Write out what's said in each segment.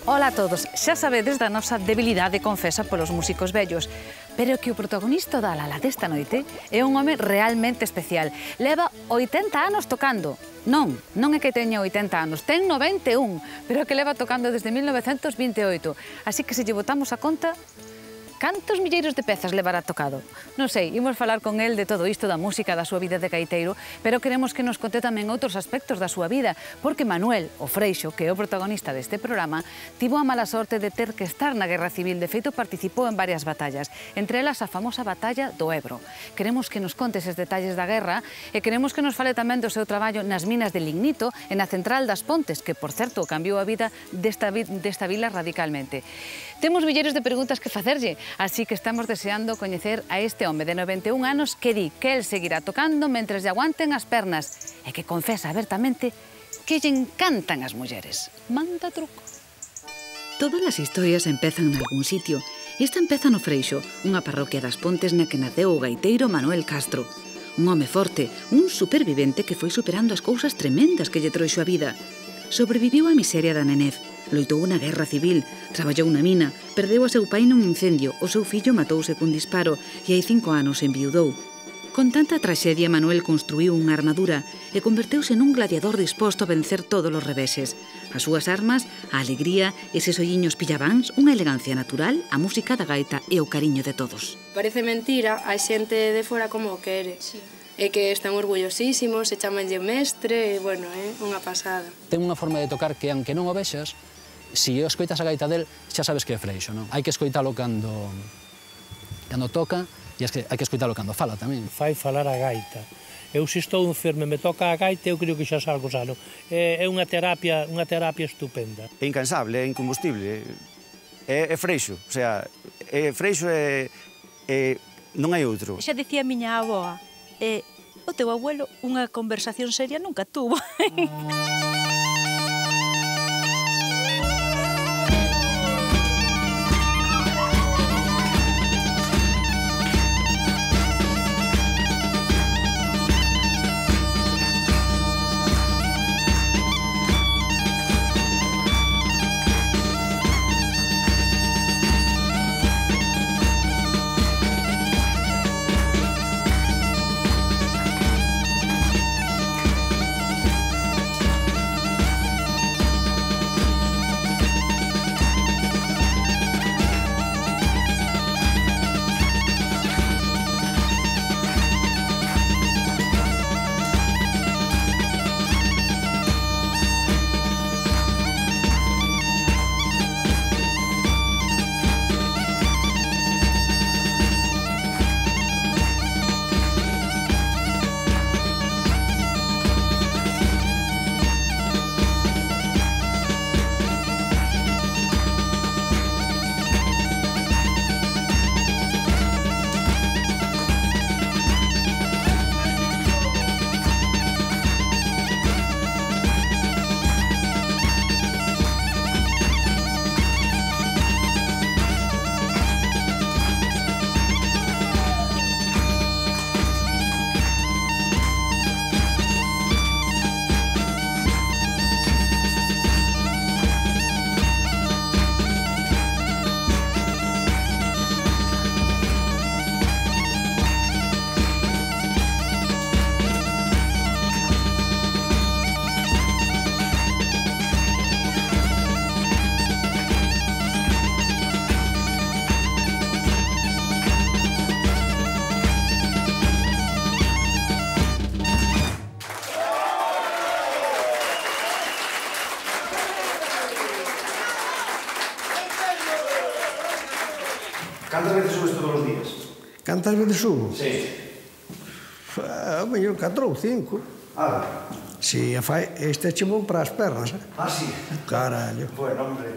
Ola a todos, xa sabedes da nosa debilidade confesa polos músicos vellos, pero que o protagonista da La La desta noite é un home realmente especial. Leva 80 anos tocando. Non é que teña 80 anos, ten 91, pero que leva tocando desde 1928. Así que se lle botamos a conta, cantos milleiros de pezas levará tocado? Non sei, imos falar con el de todo isto da música, da súa vida de gaiteiro, pero queremos que nos conte tamén outros aspectos da súa vida, porque Manuel, o Freixo, que é o protagonista deste programa, tivo a mala sorte de ter que estar na Guerra Civil. De feito, participou en varias batallas, entre elas a famosa batalla do Ebro. Queremos que nos conte eses detalles da guerra e queremos que nos fale tamén do seu traballo nas minas de lignito e na central das Pontes, que, por certo, cambiou a vida desta vila radicalmente. Temos milleiros de preguntas que facerlle, así que estamos deseando coñecer a este home de 91 anos que di que el seguirá tocando mentres lle aguanten as pernas e que confesa abertamente que lle encantan as mulleres. Manda truco. Todas as historias empezan en algún sitio. Esta empeza no Freixo, unha parroquia das Pontes na que naceu o gaiteiro Manuel Castro. Un home forte, un supervivente que foi superando as cousas tremendas que lle trouxo a vida. Sobreviviu á miseria da nenez, loitou na guerra civil, traballou na mina, perdeu a seu pai nun incendio, o seu fillo matouse cun disparo e hai 5 anos enviudou. Con tanta traxedia, Manuel construiu unha armadura e converteuse nun gladiador disposto a vencer todos os reveses. As súas armas, a alegría, eses olliños pillabáns, unha elegancia natural, a música da gaita e o cariño de todos. Parece mentira, a xente de fora como o quere. Sí. E que están orgullosísimos, se chamanlle mestre, e, bueno, é unha pasada. Ten unha forma de tocar que, aunque non o vexas, se escoitas a gaita del, xa sabes que é Freixo, non? Hai que escoitalo cando toca, e hai que escoitalo cando fala tamén. Fai falar a gaita. Eu se estou enfermo e me toca a gaita, eu creo que xa salgo sano. É unha terapia estupenda. É incansable, é incombustible. É Freixo, o sea, Freixo non hai outro. Xa dicía a miña avoa, o teu abuelo unha conversación seria nunca tuvo. Cantas veces subes todos os días? Cantas veces subo? Sí. A mellor 4 ou 5. Ah, Si, este che bon para as pernas, eh? Ah, sí? Carallo. Bueno, hombre.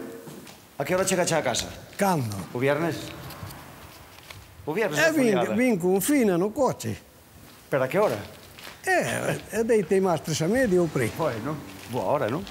A que hora chegache a casa? Cando? O viernes? O viernes E vin con fina no coche. Pero a que hora? Deitei máis 3:30 ou por aí. Bueno, boa hora, non?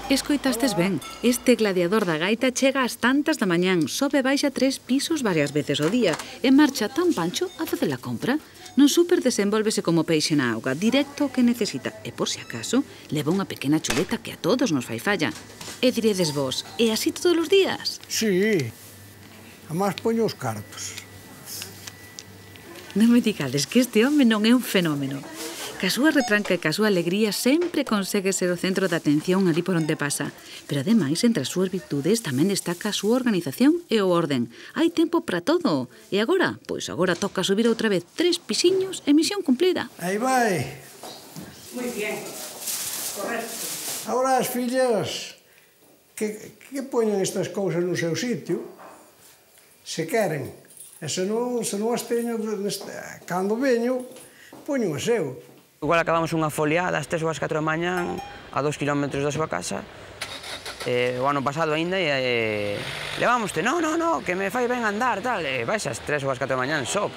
Escoitastes ben, este gladiador da gaita chega ás tantas da mañán, sobe e baixa 3 pisos varias veces ao día e marcha tan pancho a facer a compra. No súper desenvólvese como peixe na auga, directo o que necesita. E por si acaso, leva unha pequena chuleta que a todos nos fai falla. E diredes vos, é así todos os días? Sí. Amás poño os cartos. Non me digades que este home non é un fenómeno. Ca súa retranca e ca súa alegría sempre consegue ser o centro de atención ali por onde pasa. Pero ademais, entre as súas virtudes tamén destaca a súa organización e o orden. Hai tempo para todo. E agora? Pois agora toca subir outra vez 3 pisiños e misión cumplida. Aí vai. Moi bien, correcto. Agora as fillas que poñen estas cousas no seu sitio, se queren. E se non as teño, cando veño, poño o seu. Igual acabamos unha foliada ás 3 ou ás 4 da mañán a 2 kilómetros da súa casa. O ano pasado ainda levámoste, no, que me fai ben andar, tal. Vais ás 3 ou ás 4 da mañán só,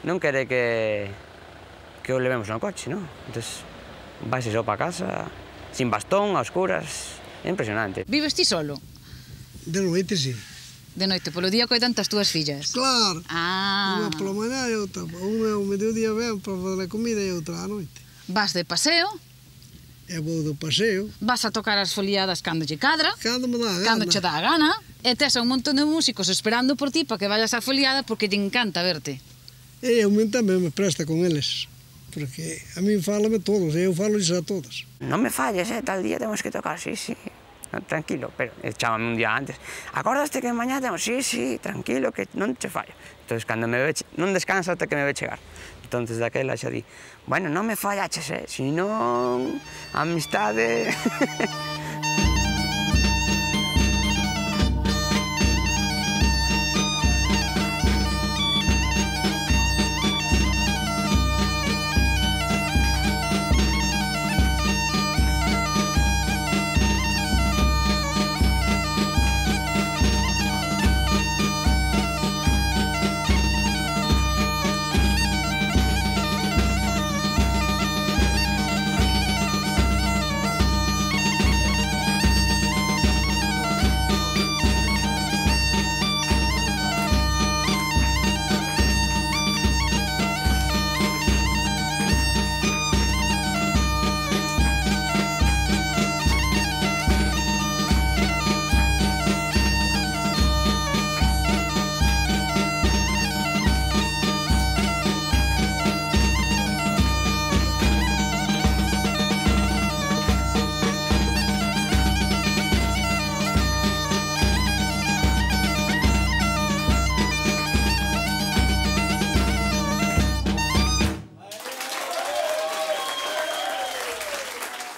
non quere que o levemos no coche, non? Entón, vais só para casa, sin bastón, a oscuras, é impresionante. Vives ti solo? De noite, sí. De noite, polo día coidan as túas fillas? Claro. Ah. Unha pola mañá e outra. Unha ao mediodía ven para fazer a comida e outra á noite. Vas de paseo? E vou do paseo. Vas a tocar as foliadas cando lle cadra? Cando me dá a gana. Cando che dá a gana. E tes un montón de músicos esperando por ti para que vayas á foliada porque te encanta verte. E eu tamén me presta con eles. Porque a min fálame todos, e eu falo a todos. Non me falles, tal día temos que tocar, sí. Tranquilo, pero chámame un día antes. Acordaste que mañá temos? Sí, tranquilo, que non che fallo. Entón, cando me ve, non descansa ata que me ve chegar. Entón, daquela xa di, bueno, non me fallaches, senón amistade...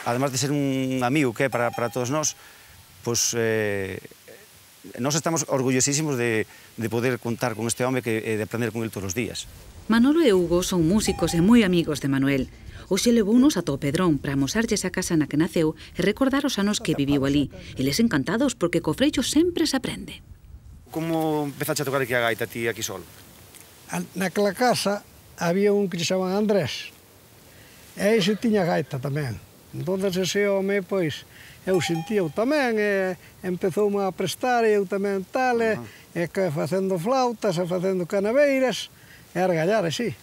Además de ser un amigo que é para todos nós, pois nós estamos orgullosísimos de poder contar con este home e de aprender con ele todos os días. Manolo e Hugo son músicos e moi amigos de Manuel. Hoxe levounos a Pedrón para amosarlles a casa na que naceu e recordar os anos que viviu ali. Eles encantados porque co freixo sempre se aprende. Como empezaste a tocar aquí a gaita ti aquí solo? Naquela casa había un que se chamaban Andrés. E ese tiña gaita tamén. Entón, ese home, pois, eu sentia-o tamén, e empezoume a prestar, e eu tamén tal, e facendo flautas, e facendo canaveiras, e a regallar, así.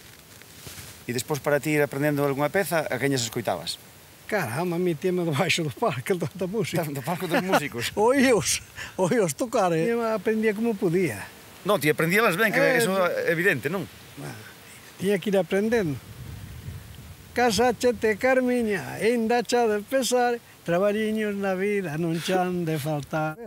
E despois, para ti, ir aprendendo algunha peza, a queñas escoitabas? Caramba, a mí tíame debaixo do palco da música. Do palco dos músicos? Oíos tocar, e aprendía como podía. Non, ti aprendíalas ben, que eso é evidente, non? Tiña que ir aprendendo. Casachete, Carmiña, ainda cha de pesar, traballiños na vida non chan de faltar.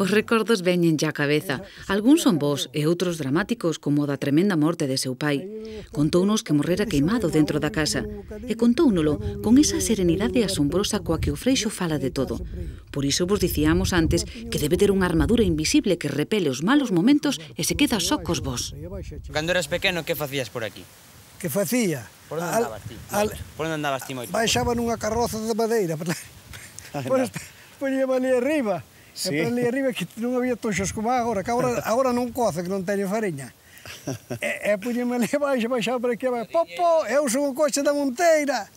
Os recordos veñen xa a cabeza. Algúns son bons e outros dramáticos, como o da tremenda morte de seu pai. Contounos que morrera queimado dentro da casa e contóunolo con esa serenidade asombrosa coa que o freixo fala de todo. Por iso vos dicíamos antes que debe ter unha armadura invisible que repele os malos momentos e se queda só cos vos. Cando eras pequeno, que facías por aquí? Que facía? Por onde andabas ti? Por onde andabas ti moito? Baixaba nunha carroza de madeira. Poñíame ali arriba. E para ali arriba que non había toxos como agora, que agora non coce, que non teño fariña. E poñíame ali baixo, baixaba para aquí, popo, eu son o coche da Monteira.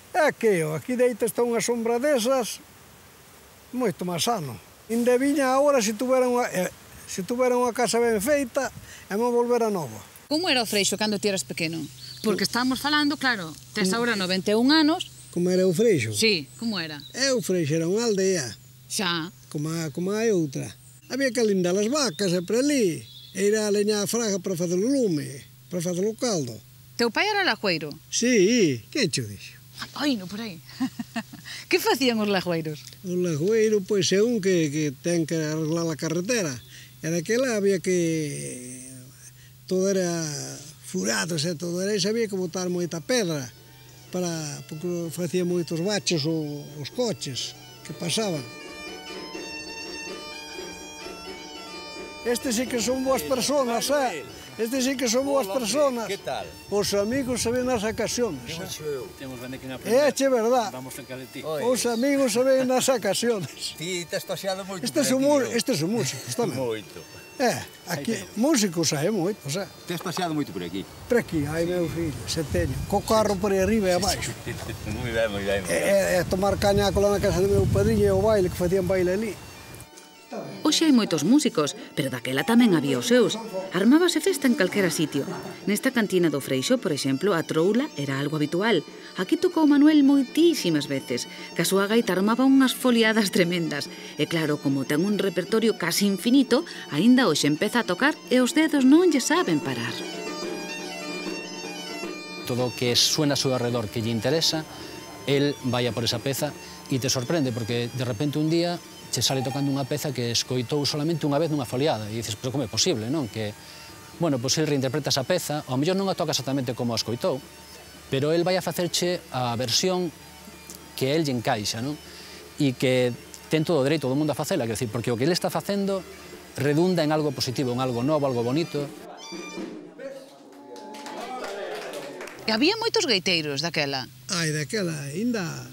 E aquí deito está unha sombra desas, moito máis sano. Inde viña agora se tuvera unha casa ben feita, e me volvera novo. Como era o Freixo cando ti eras pequeno? Porque estábamos falando, claro, tes agora 91 anos. Como era o Freixo? Sí, como era? O Freixo era unha aldea. Xa. Como a outra. Había que lindar as vacas sempre ali. E ir a leñar a fraga para fazer o lume, para fazer o caldo. Teu pai era lajueiro? Sí, que cho dixo? Ai, no, por aí. Que facían os lajueiros? O lajueiro, pois, é un que ten que arreglar a carretera. E daquela había que... Todo era furado, todo era... E había que botar moita pedra porque facía moitos baches os coches que pasaban. Estes sí que son boas personas, Estes sí que son boas personas. Que tal? Os amigos se ven nas ocasiones. Temos ben que aprender. É verdad. Vamos cerca de ti. Os amigos se ven nas ocasiones. Ti tes paseado moito Estes son músicos tamén. Moito. Aquí, músicos hai moitos, Tes paseado moito por aquí? Por aquí, hai meu filho, se teño. Co carro por aí arriba e abaixo. Moi ben, moi ben. E tomar cañaco lá na casa do meu padriño e o baile, que facían baile ali. Hoxe hai moitos músicos, pero daquela tamén había os seus. Armábase festa en calquera sitio. Nesta cantina do Freixo, por exemplo, a troula era algo habitual. Aquí tocou Manuel moitísimas veces, que a súa gaita armaba unhas foliadas tremendas. E claro, como ten un repertorio casi infinito, aínda hoxe empeza a tocar e os dedos non lle saben parar. Todo o que suena a seu alrededor que lle interesa, el vai a por esa peza e te sorprende, porque de repente un día che sale tocando unha peza que escoitou solamente unha vez nunha foliada e dices, pero como é posible, non? Que, bueno, pois el reinterpreta esa peza, ao mellor non a toca exactamente como a escoitou, pero el vai a facerche a versión que el lle encaixa, non? E que ten todo o dereito do mundo a facela, quer dizer, porque o que ele está facendo redunda en algo positivo, en algo novo, algo bonito. E había moitos gaiteiros daquela. Daquela, ainda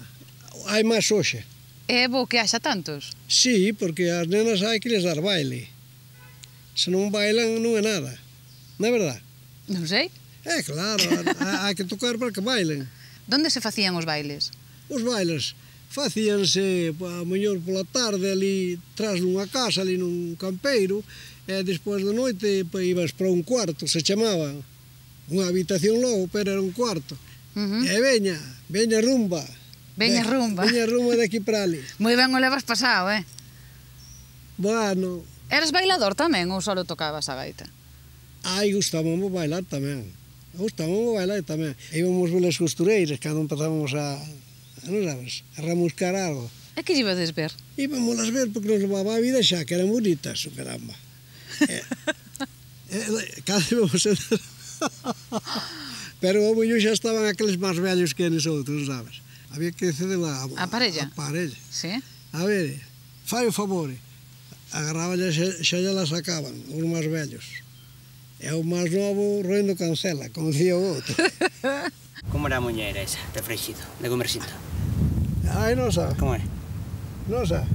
hai máis hoxe. É bo que haxa tantos? Sí, porque as nenas hai que les dar baile. Se non bailan, non é nada. Non é verdad? Non sei. Claro, hai que tocar para que bailen. Donde se facían os bailes? Os bailes facíanse, a mellor pola tarde, ali tras dunha casa, ali nun campeiro, e despois da noite ibas para un cuarto, se chamaba. Unha habitación logo, pero era un cuarto. E veña rumba. Veña rumba. Veña rumba de aquí para ali. Moi ben o levas pasado, Bueno. Eras bailador tamén ou só tocabas a gaita? Gustábamos bailar tamén. Gustábamos bailar tamén. Íbamos velas costureiras cando empezábamos a ramuscar algo. E que ibades ver? Íbamos a ver porque nos levaba a vida xa, que eran bonitas, caramba. Cada íbamos a... Pero o mullo xa estaban aqueles máis vellos que eles outros, sabes? Había que ceder a parella. A parella. Sí. A ver, fai o favor. Agarraballe xa lle la sacaban, os máis vellos. E o máis novo roendo cancela, como dicía o outro. Como era a muñeira esa, de Freixido, de Comersinto? Non sabe. Como é? Non sabe.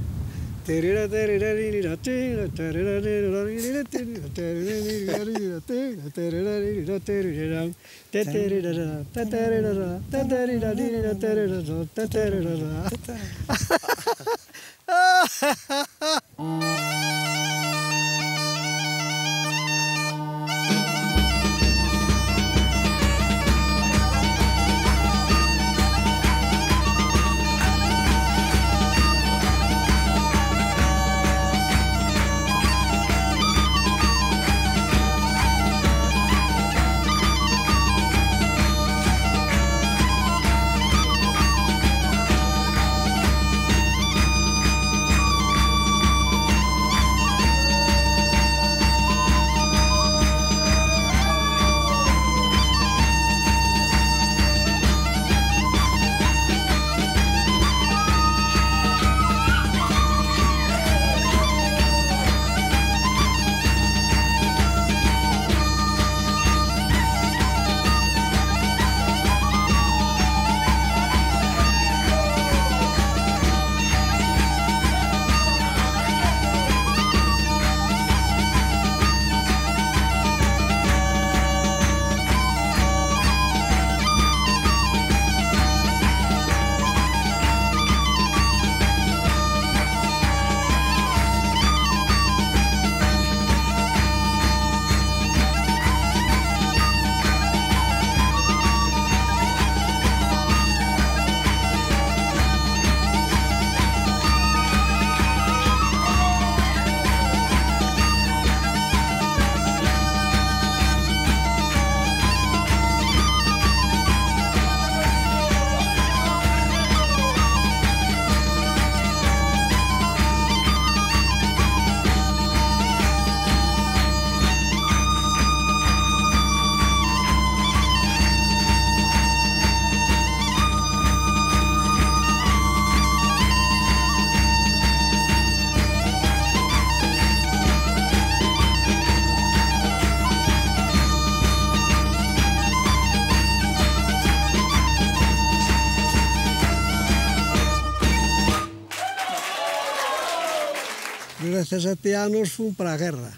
17 anos fun para a guerra.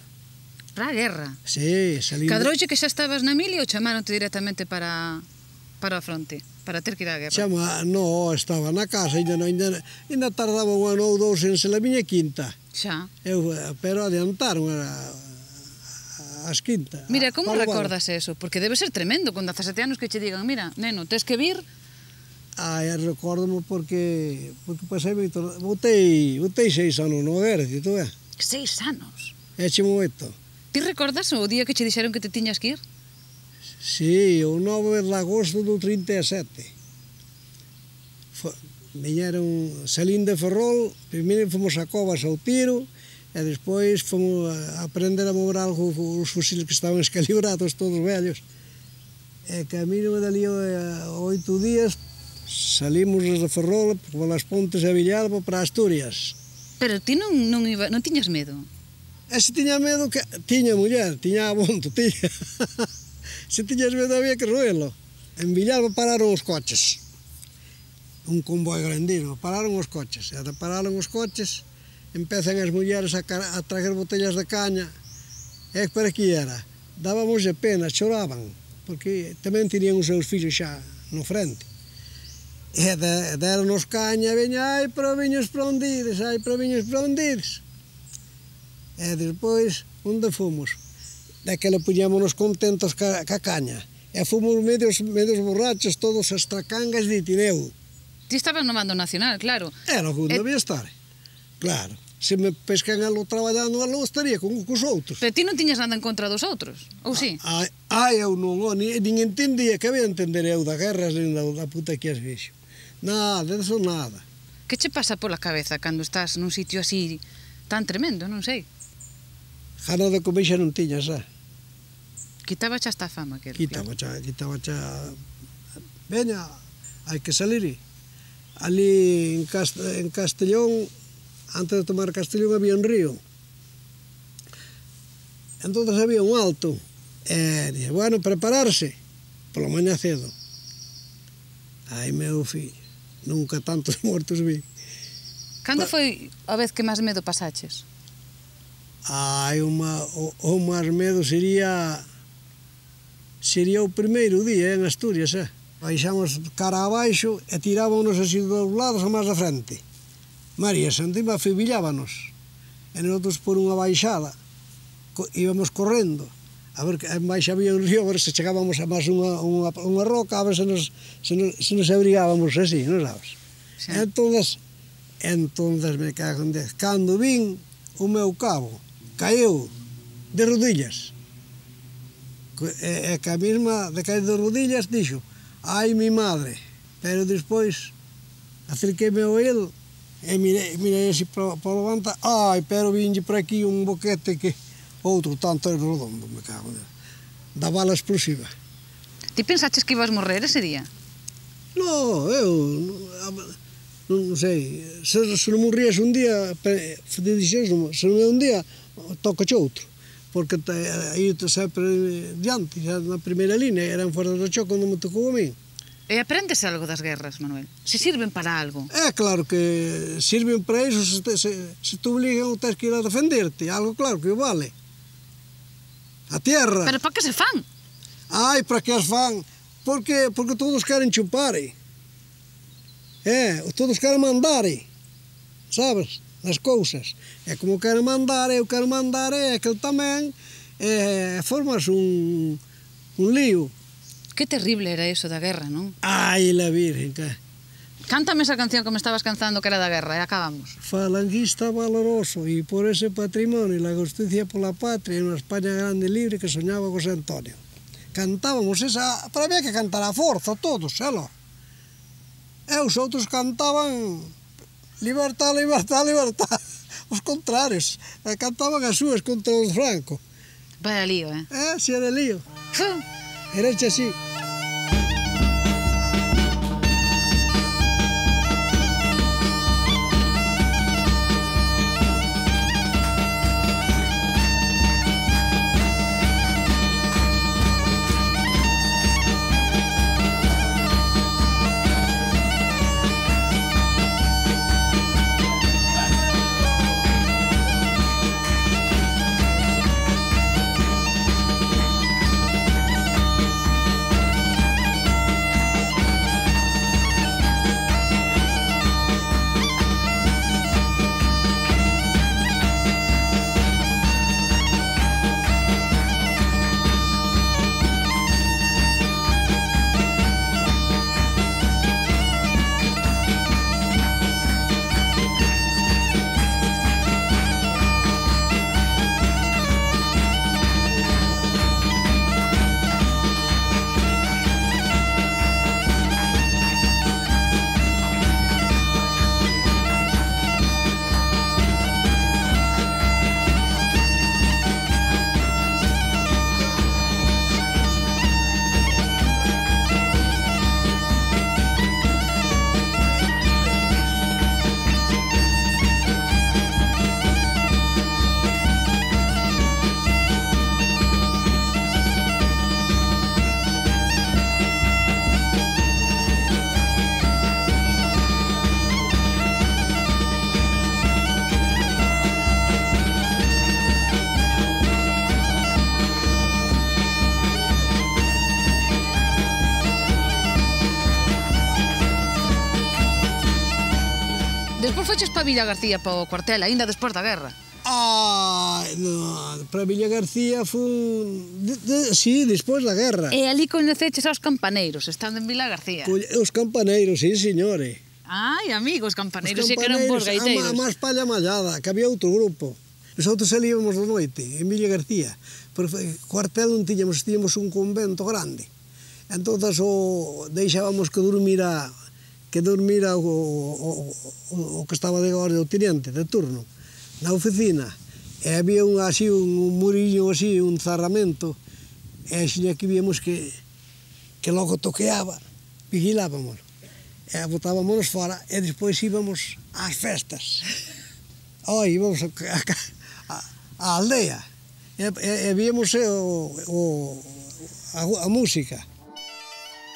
Para a guerra? Sí, salí... Cadrouxe que xa estabas na mili ou chamaronte directamente para a fronte, para ter que ir á guerra? No, estaba na casa, ainda tardaba un ano ou dous en ser a miña quinta. Xa. Pero adiantaron as quintas. Mira, como recordas eso? Porque debe ser tremendo, con 17 anos que che digan, mira, neno, tes que vir... Recórdamo porque pasei moito... Botei 6 anos no exército, 6 anos? Eche moito. Ti recordas o día que che dixeron que te tiñas que ir? Sí, o 9 de agosto do 37. Viñeron, salín de Ferrol, primeiro fomos a Covas ao tiro, e despois fomos a aprender a mover algo os fusiles que estaban escalibrados, todos vellos. E camino dali 8 días, salimos desde Ferrol, polas Pontes e Villalba, para Asturias. Pero ti non tiñas medo? Se tiña medo, tiña muller, tiña abondo, tiña... Se tiñas medo había que roelo. En Villalba pararon os coches. Un convoi grandísimo, pararon os coches. E pararon os coches, empezan as mulleres a traer botellas de caña. E para que era? Dábamos de pena, choraban, porque tamén tenían os seus fillos xa no frente. E deron-nos caña, veña, ai, pero viños para onde ides, ai, pero viños para onde ides. E despois, onde fomos? Daquela puñámonos contentos ca caña. E fomos medios borrachos, todos as tracangas de Tineu. Ti estabas no mando nacional, claro. Era o que debía estar, claro. Se me pescan alo traballando alo, estaría con os outros. Pero ti non tiñas nada en contra dos outros, ou si? Eu non, nin entendía que había entender eu da guerra, nin da puta que as vexo. Nada, eso nada. Que che pasa pola cabeza cando estás nun sitio así tan tremendo, non sei? Jana de comer xa non tiñas, Quitaba xa esta fama, que Quitaba xa... Veña, hai que salir. Ali en Castellón, antes de tomar Castellón, había un río. Entón había un alto. E dije, bueno, prepararse. Pola mañá cedo. Ai, meu fillo, nunca tantos mortos vi. Cando foi a vez que máis medo pasaches? O máis medo sería o primeiro día en Asturias, Baixamos cara abaixo e tirábamos así dos lados a máis da frente. María Santísima afibillábanos. E nosotros por unha baixada íbamos correndo. A ver, en baixo había un río, a ver se chegábamos a máis unha roca, a ver se nos abrigábamos así, non sabes? Sí. Entonces me cago en 10. Cando vin, o meu cabo caeu de rodillas. E que a mesma de caer de rodillas dixo, ai mi madre, pero despois acerquei-me ao el e mirei así para levanta, ai, pero vinlle por aquí un boquete que outro tanto redondo, me cago en da bala explosiva. Ti pensaches que ibas morrer ese día? No, eu non sei, se non morrías un día, se non é un día, tocache outro. Porque aí sempre diante, xa na primeira línea, eran fuera do choque onde me tocou a mí. E aprendes algo das guerras, Manuel? Se sirven para algo? É claro que sirven para iso, se te obligan ou tens que ir a defenderte, algo claro que vale. A tierra. Pero para que se fan? Ai, para que as fan? Porque todos queren chupar. Todos queren mandar, sabes? As cousas. E como quero mandar, eu quero mandar, e aquel tamén, formas un lío. Que terrible era eso da guerra, non? Ai, la virgen, que... Cántame esa canción que me estabas cantando que era da guerra, e acabamos. Falanguista valoroso, e por ese patrimonio, la justicia por la patria, unha España grande e libre que soñaba José Antonio. Cantábamos esa, pero había que cantar a forza, todos, xelo. E os outros cantaban... Libertad, libertad, libertad. Os contrarios. Cantaban as súas contra os Franco. Vaya lío, Si era lío. Era así. Despois foches pa Villa García, pa o cuartel, aínda despois da guerra. No, para Villa García fun... Sí, despois da guerra. E ali coñeceches aos campaneiros, estando en Villa García. Os campaneiros, sí, señores. Ai, amigos, campaneiros, sí que eran bons gaiteiros. A máis palla mallada, que había outro grupo. Nosotros salíamos da noite, en Villa García. Porque cuartel non tiñamos un convento grande. Entón, deixábamos que dormira o que estaba de guardia, o teniente de turno, na oficina. E había un murillo así, un zarramento, e xa que víamos que logo toqueaba, vigilábamos. E botábamos fora, e despois íbamos ás festas. Íbamos á aldea, e víamos a música.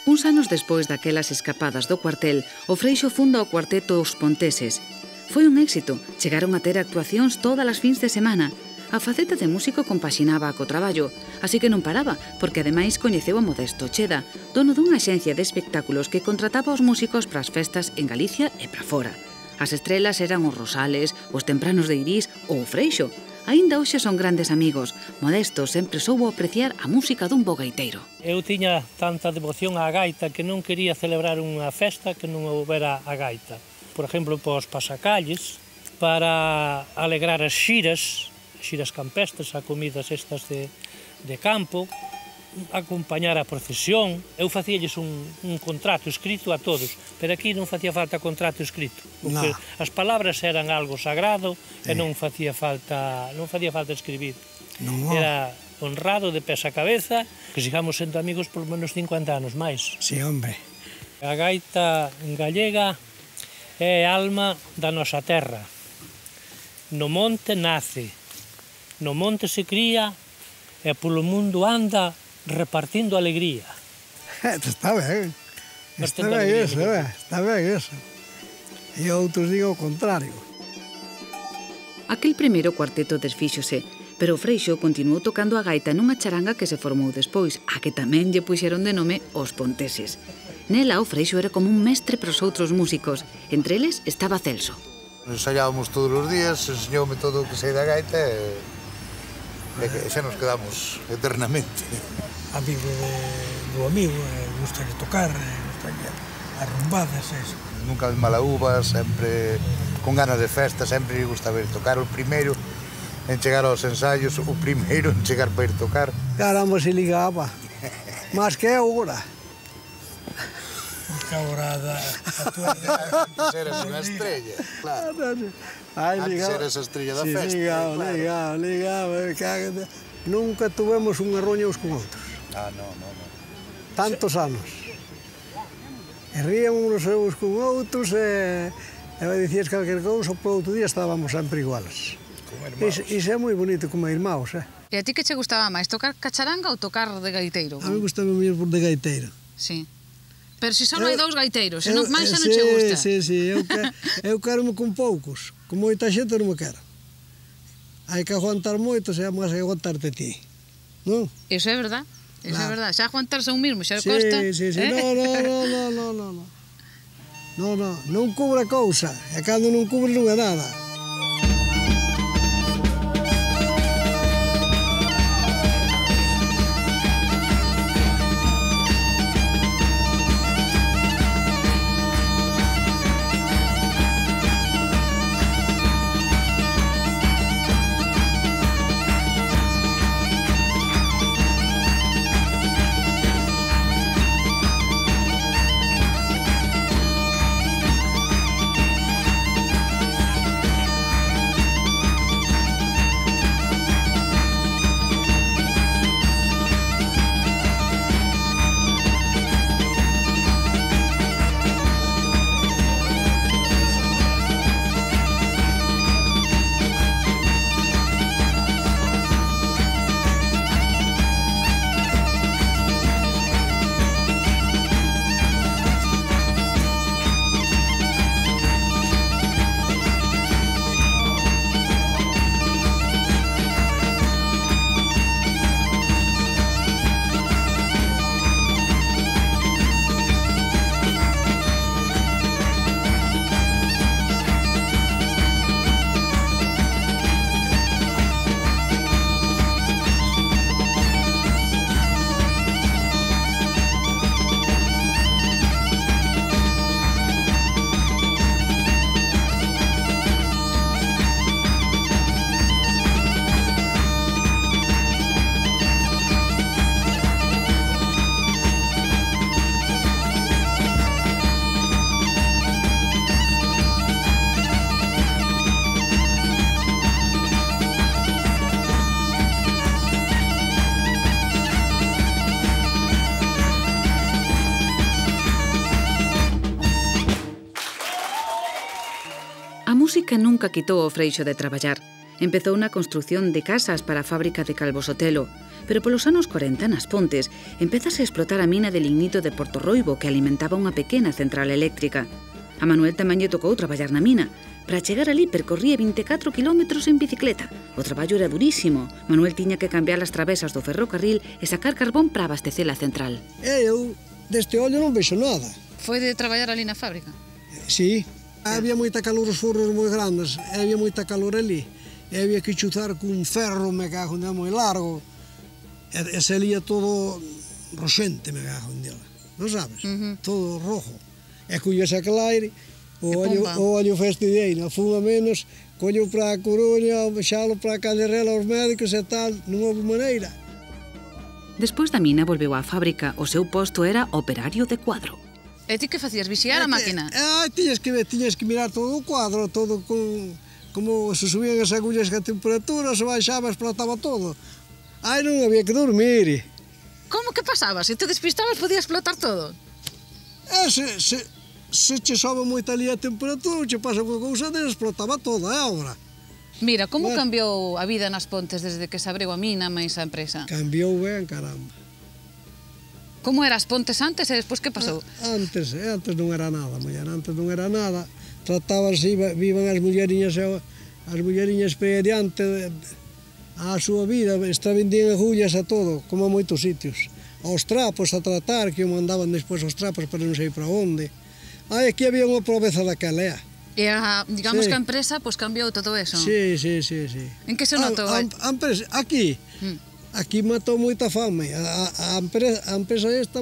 Uns anos despois daquelas escapadas do cuartel, o Freixo funda o cuarteto Os Ponteses. Foi un éxito, chegaron a ter actuacións todas as fins de semana. A faceta de músico compaxinaba co traballo, así que non paraba, porque ademais coñeceu a Modesto Cheda, dono dunha axencia de espectáculos que contrataba os músicos para as festas en Galicia e para fora. As estrelas eran os Rosales, os Tempranos de Irís ou o Freixo. Aínda hoxe son grandes amigos. Modesto sempre soubo apreciar a música dun bo gaiteiro. Eu tiña tanta devoción á gaita que non quería celebrar unha festa que non houbera a gaita. Por exemplo, pos pasacalles, para alegrar as xiras campestres, a comidas estas de campo, acompañar a procesión. Eu facíalles un contrato escrito a todos, pero aquí non facía falta contrato escrito, porque as palabras eran algo sagrado e non facía falta escribir. Era honrado de pés a cabeza, que sigamos sendo amigos por menos 50 anos máis. Sí, hombre. A gaita gallega é a alma da nosa terra. No monte nace, no monte se cría e polo mundo anda repartindo alegría. Está ben. Está ben eso. E outros digo o contrario. Aquel primeiro cuarteto desfíxose, pero o Freixo continuou tocando a gaita nunha charanga que se formou despois, a que tamén lle puxeron de nome Os Ponteses. Nela, o Freixo era como un mestre para os outros músicos. Entre eles estaba Celso. Ensaiábamos todos os días, enseñoume todo o que sei da gaita e xa nos quedamos eternamente. Amigo do amigo, gustalle tocar, gustalle arrumbadas, eso. Nunca de mala uva, sempre con ganas de festa, sempre lle gustaba ir tocar. O primeiro en chegar aos ensaios, o primeiro en chegar para ir tocar. Caramba, se ligaba, máis que agora. Porque agora antes eras unha estrella, claro. Antes eras a estrella da festa. Ligaba. Nunca tuvemos unha roña uns con outros. Non. Tantos anos. E ríamos uns con outros e dicías calquer cousa, por outro día estábamos sempre iguales. Iso é moi bonito como irmãos, E a ti que che gustaba máis, tocar cacharanga ou tocar de gaiteiro? A mí gustaba máis por de gaiteiro. Sí. Pero se só hai dous gaiteiros, se non máis xa non che gusta. Sí, eu quero-me con poucos, con moita xente non me quero. Hai que aguantar moito, se é máis que aguantarte ti, non? Iso é verdad, xa aguantarse un mismo, xa costa. Sí, non cubre cousa, e cando non cubre non é nada. música nunca quitou o Freixo de traballar. Empezou na construción de casas para a fábrica de Calvo Sotelo, pero polos anos 40, nas Pontes, empezase a explotar a mina de lignito de Porto Roibo que alimentaba unha pequena central eléctrica. A Manuel tamén lle tocou traballar na mina. Para chegar ali percorría 24 kilómetros en bicicleta. O traballo era durísimo. Manuel tiña que cambiar as travesas do ferrocarril e sacar carbón para abastecer a central. Eu deste ollo non vexo nada. Foi de traballar ali na fábrica? Sí. Había moita calor, os forros moi grandes, había moita calor ali. E había que chuzar cun ferro, me cago en moi largo. E salía todo roxente, me cago en dela. Non sabes? Todo rojo. E colles aquel aire, o ollo fastidiei, fuma menos, collo para a Coruña, xalo para a Calderela aos médicos e tal, non houve maneira. Despois da mina volveu á fábrica, o seu posto era operario de cuadro. E ti que facías, vixiar a máquina? Tiñas que mirar todo o cuadro, todo como se subían as agullas a temperatura, se baixaba, explotaba todo. Non había que dormir. Como que pasaba? Se te despistabas podía explotar todo? Se che sobe moita ali a temperatura, che pasa unha cousa desa, explotaba todo, obra. Mira, como cambiou a vida nas Pontes desde que se abriu a mina máis a empresa? Cambiou ben, caramba. Como eras Pontes antes e despois que pasou? Antes non era nada, muller, antes non era nada. Tratábanse, vivan as mulleriñas para adiante a súa vida, vendían agullas a todo, como a moitos sitios. Aos trapos a tratar, que o mandaban despois aos trapos para non sei para onde. Aquí había unha proveza daquela, E digamos que a empresa cambiou todo eso? Sí. En que se notou? A empresa, aquí matou moita fame. A empresa esta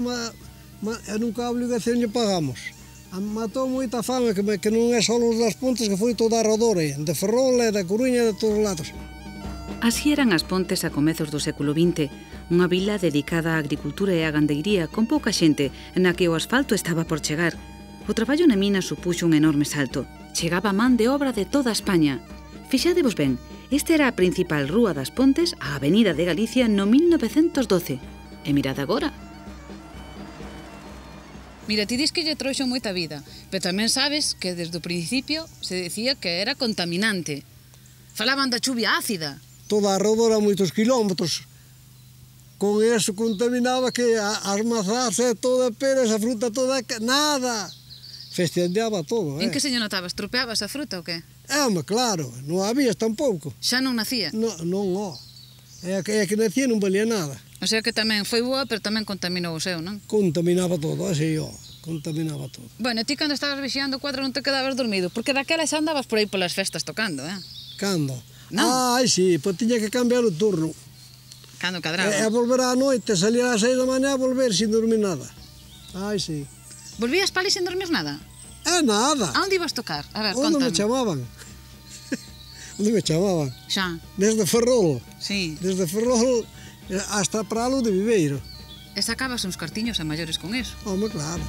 nunca a obligación lle pagamos. Matou moita fame, que non é só os das Pontes, que foi toda a Rodor, de Ferrol, da Coruña, de todos os lados. Así eran as Pontes a comezos do século XX, unha vila dedicada á agricultura e á gandeiría con pouca xente, na que o asfalto estaba por chegar. O traballo na mina supuxo un enorme salto. Chegaba man de obra de toda España. Fixadevos ben, esta era a principal rúa das Pontes, a Avenida de Galicia, no 1912. E mirad agora. Mira, ti dis que lle trouxo moita vida, pero tamén sabes que desde o principio se decía que era contaminante. Falaban da chuvia ácida. Toda a Rodor a moitos kilómetros. Con eso contaminaba que as mazás e toda a peras, a fruta toda, nada. Festeandeaba todo, En que se lle notaba? Estropeabas a fruta ou que? Claro, non había tampouco. Xa non nacía? Non. É que nacía non valía nada. O sea que tamén foi boa, pero tamén contaminou o seu, non? Contaminaba todo, contaminaba todo. Bueno, ti cando estabas vixiando o cuadro non te quedabas dormido, porque daquela xa andabas por aí polas festas tocando, Cando? Non? Sí, pois tiña que cambiar o turno. Cando cadraba? E volver á noite, salir ás 6 da mañá a volver sin dormir nada. Sí. Volvías para ali sin dormir nada? Nada. A onde ibas tocar? A ver, Onde contame. me chamaban? Onde me chamaban? Xa. Desde Ferrol. Sí. Desde Ferrol hasta Pralo de Viveiro. E sacabas uns cartiños a maiores con eso? Claro.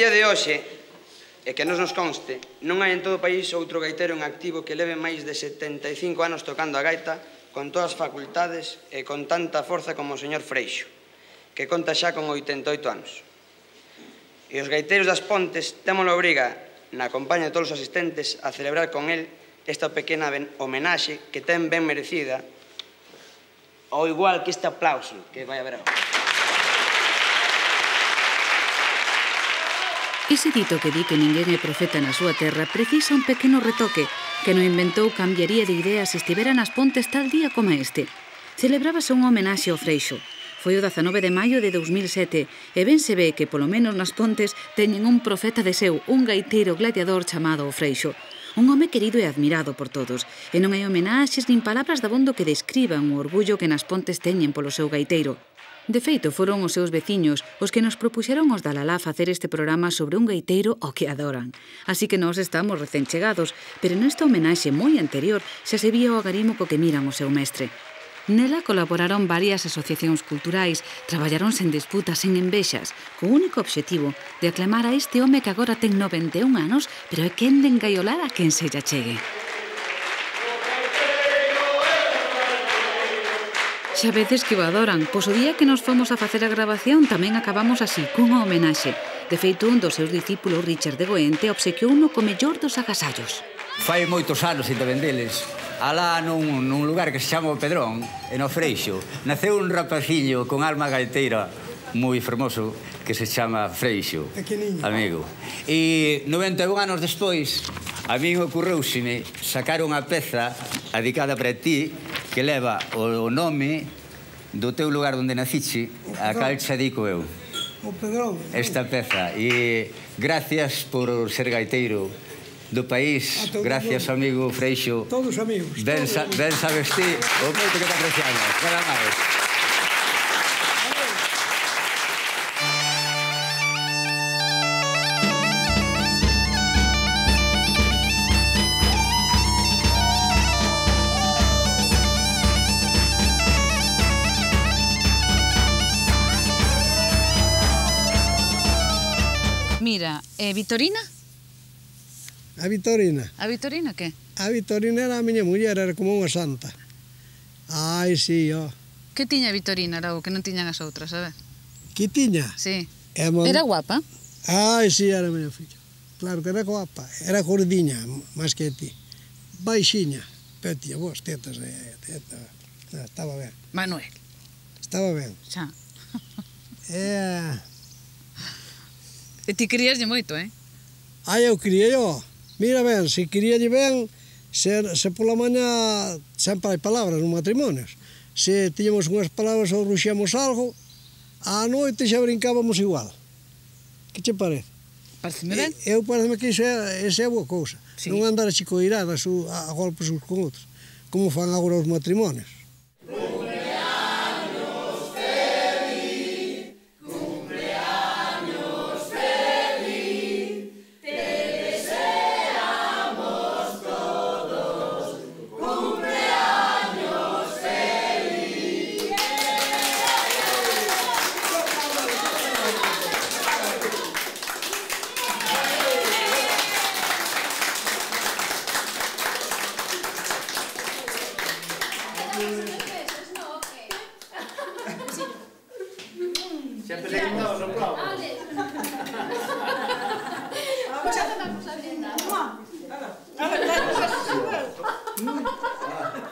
día de hoxe, e que nos conste, non hai en todo o país outro gaitero en activo que leve máis de 75 anos tocando a gaita con todas as facultades e con tanta forza como o señor Freixo, que conta xa con 88 anos. E os gaiteiros das Pontes temos a obriga, na compañía de todos os asistentes, a celebrar con el esta pequena homenaxe que ten ben merecida, ao igual que este aplauso que vai haber agora. Ese dito que di que ninguén é profeta na súa terra precisa un pequeno retoque que non inventou cambiaría de idea se estivera nas Pontes tal día como este. Celebrábase unha homenaxe ao Freixo. Foi o 19 de maio de 2007 e ben se ve que polo menos nas Pontes teñen un profeta de seu, un gaiteiro gladiador chamado o Freixo. Un home querido e admirado por todos. E non hai homenaxes nin palabras dabondo que describan o orgullo que nas Pontes teñen polo seu gaiteiro. De feito, foron os seus veciños os que nos propuxeron os da Lalá facer este programa sobre un gaiteiro ao que adoran. Así que nós estamos recén chegados, pero nesta homenaxe moi anterior xa se vía o agarimo co que miran o seu mestre. Nela colaboraron varias asociacións culturais, traballaron sen disputas, sen envexas, co único obxectivo de aclamar a este home que agora ten 91 anos, pero é quen de engaiolar a quen se lla chegue. Xa veces que o adoran, pois o día que nos fomos a facer a grabación tamén acabamos así, cunha homenaxe. De feito, un dos seus discípulos, Richard de Goente, obsequiouno co mellor dos agasallos. Fai moitos anos ainda vendeles. Alá nun lugar que se chama o Pedrón, en o Freixo, naceu un rapaciño con alma gaiteira moi fermoso que se chama Freixo, amigo. E 91 anos despois, a min ocurreuseme sacar unha peza dedicada para ti que leva o nome do teu lugar onde naciche, a cal xa dico eu. O Pedrón. Esta peza. E gracias por ser gaiteiro do país, gracias, amigo Freixo. Todos amigos. Ben sabes ti o moito que te apreciamos. Nada máis. Mira, Vitorina? A Vitorina. A Vitorina que? A Vitorina era a miña muller, era como unha santa. Ai, sí, ó. Que tiña a Vitorina, era o que non tiñan as outras, a ver? Que tiña? Sí. Era guapa? Ai, sí, era a miña filla. Claro que era guapa. Era gordiña, máis que ti. Baixiña. Pero tía, vos, tetas, estaba ben. Manuel. Estaba ben. Xa. E ti queríaslle moito, Ai, eu quería yo. Mira ben, se queríalle ben, se pola mañá sempre hai palabras nos matrimonios. Se tiñamos unhas palabras ou ruxíamos algo, á noite xa brincábamos igual. Que che parece? Pareceme ben. Eu pareceme que esa é boa cousa. Non andar a chicoiradas a golpes uns con outros, como fan agora os matrimonios.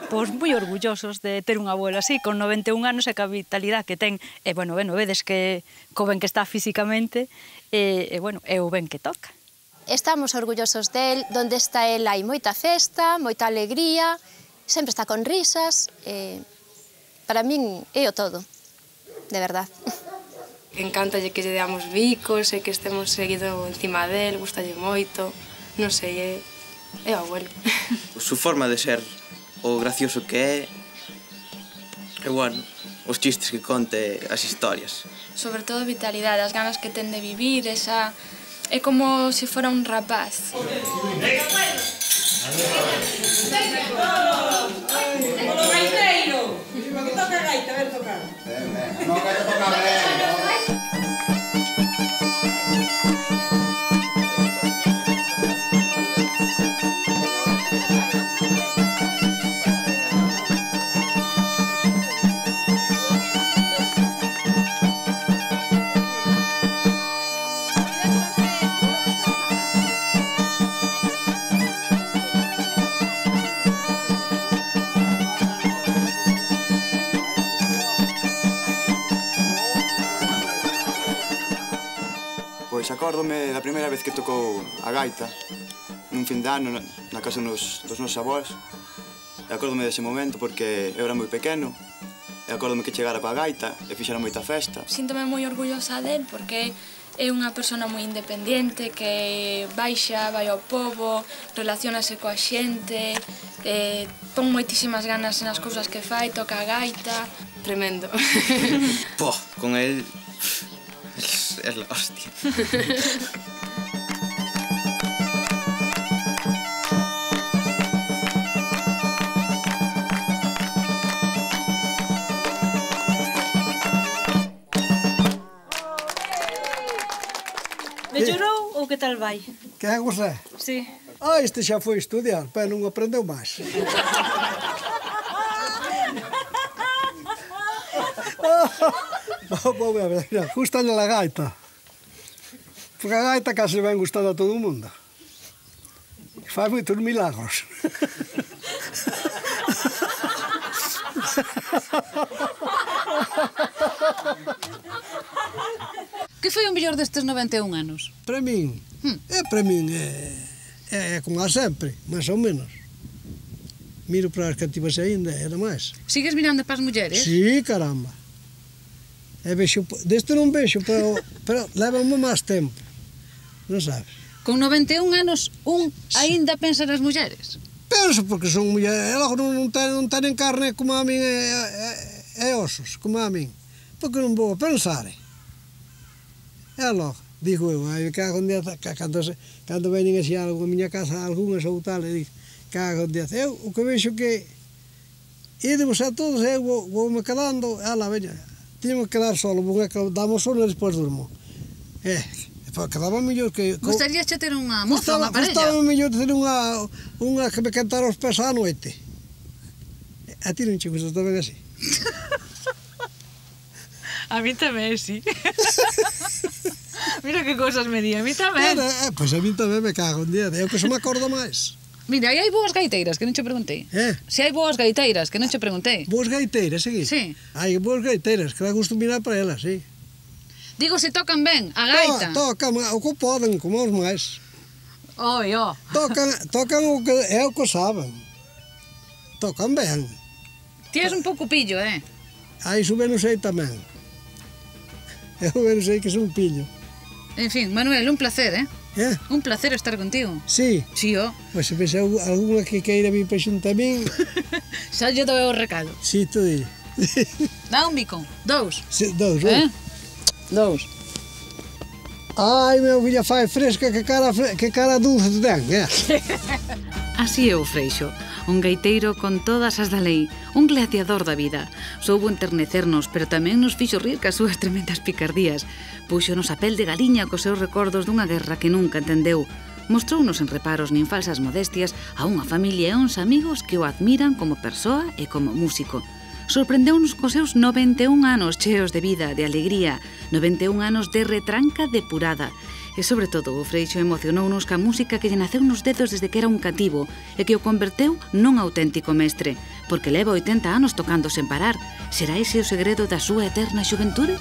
Pois moi orgullosos de ter un abuelo así, con 91 anos e ca vitalidade que ten. E, bueno, vedes que co ben que está físicamente e o ben que toca. Estamos orgullosos del, donde está el hai moita festa, moita alegría, sempre está con risas, para min é o todo, de verdad. Encántalle que lle deamos bicos e que estemos seguido encima del, gustalle moito, non sei, é o abuelo. Su forma de ser, o gracioso que é, e, bueno, os chistes que conte, as historias. Sobre todo vitalidade, as ganas que ten de vivir, esa... É como se fora un rapaz. Polo gaiteiro! Que toca a gaita, ven tocar. Non, gaita toca ben. Acórdome da primeira vez que tocou a gaita, nun fin de ano, na casa dos nosos avós. E acórdome dese momento porque eu era moi pequeno. E acórdome que chegara coa gaita e fixera moita festa. Síntome moi orgullosa del porque é unha persona moi independente que baixa, vai ao pobo, relacionase coa xente, pon moitísimas ganas nas cousas que fai, toca a gaita. Tremendo. Pô, con él... es la hostia. Mellorou ou que tal vai? Quen é você? Sí. Este xa foi estudiar, pero non aprendeu máis. Vou ver, gustalle a gaita. Porque a gaita case ven gustando a todo o mundo. Fai moitos milagros. Que foi o mellor destes 91 anos? Para min? É como a sempre, máis ou menos. Miro para as cativas aínda, era máis. Sigues mirando para as mulleres? Sí, caramba. Deste non vexo, pero leva-me máis tempo. Non sabes? Con 91 anos, aínda pensa nas mulleres? Penso, porque son mulleres. Logo non tenen carne como a min e osos, como a min. Porque non vou a pensar. É logo, digo eu, cago un día, cando veñen así a miña casa, algunhas ou tal, e digo, cago un día. Eu, o que vexo que ídemos a todos, eu vou-me quedando, veña, tiño que quedar solo, damos solo e despois durmo. Quedaba mellor que... Gustaríache ter unha moza, unha parella? Gustaba mellor ter unha que me cantara os pés á noite. A ti non che gusta tamén así? A mí tamén, sí. Mira que cosas me di, a mí tamén. Pois a mí tamén me cago un día, eu que se me acordo máis. Mira, aí hai boas gaiteiras, que non che preguntei. Se hai boas gaiteiras, que non che preguntei. Boas gaiteiras, sí? Sí. Hai boas gaiteiras, que dá gusto mirar para elas, sí. Digo, se tocan ben a gaita. Tocan, o que poden, como os máis. Tocan o que é o que saben. Tocan ben. Ti és un pouco pillo, Iso ben o sei tamén. Eu ben sei que son pillo. En fin, Manuel, un placer, Un placer estar contigo. Sí? Sí, Pois se pensa alguna que queira vir para xunto a min... Xa lle dou o recado. Sí, tú dille. Dá un bico. 2. Sí, 2, 2. Ai, meu filha, fai fresca, que cara dulce ten, Así é o Freixo, un gaiteiro con todas as da lei, un gladiador da vida. Soubo enternecernos, pero tamén nos fixo rir cas súas tremendas picardías. Púxonos a pel de galiña cos seus recordos dunha guerra que nunca entendeu. Mostrounos en reparos nin falsas modestias a unha familia e uns amigos que o admiran como persoa e como músico. Sorprendeunos cos seus 91 anos cheos de vida, de alegría, 91 anos de retranca depurada. E, sobre todo, o Freixo emocionounos ca música que lle naceu nos dedos desde que era un cativo e que o converteu nun auténtico mestre, porque leva 80 anos tocando sen parar. Será ese o segredo da súa eterna xuventude?